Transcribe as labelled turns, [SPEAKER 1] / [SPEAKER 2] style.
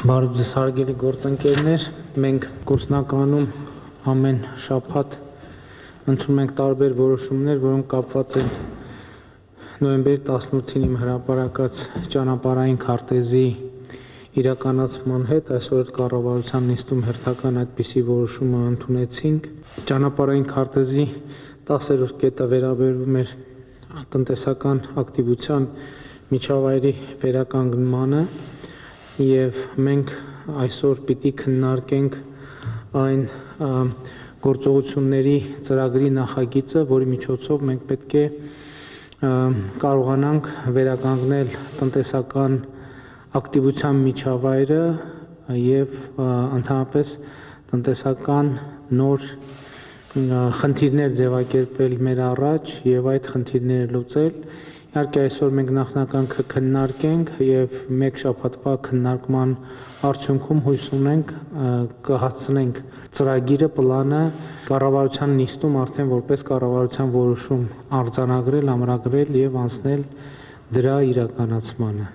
[SPEAKER 1] Բարև ձեզ հարգելի գործընկերներ, մենք գործնականում ամեն շաբաթ ընդունում ենք տարբեր որոշումներ, որոնք կապված են նոյեմբերի 18-ին իմ հրապարակած ճանապարհային քարտեզի իրականացման հետ, այսօր կառավարության նիստում հերթական այդպիսի որոշումը ընդունեցինք։ Ճանապարհային քարտեզի 10-րդ կետը վերաբերում էր տնտեսական ակտիվության միջավայրի վերականգնմանը եւ մենք այսօր պիտի քննարկենք այն գործողությունների ծրագրի նախագիծը, որի միջոցով մենք պետք է կարողանանք վերականգնել տնտեսական ակտիվության միջավայրը եւ ընդհանրապես տնտեսական նոր խնդիրներ ձևակերպել մեր առաջ եւ այդ խնդիրները լուծել։ Իհարկե այսօր մենք նախնական կքննարկենք եւ մեկ շաբաթվա քննարկման արդյունքում հույս ունենք կհասցնենք ծրագիրը, պլանը կառավարության նիստում արդեն որպես կառավարության որոշում արձանագրել, ամրագրել եւ անցնել դրա իրականացմանը։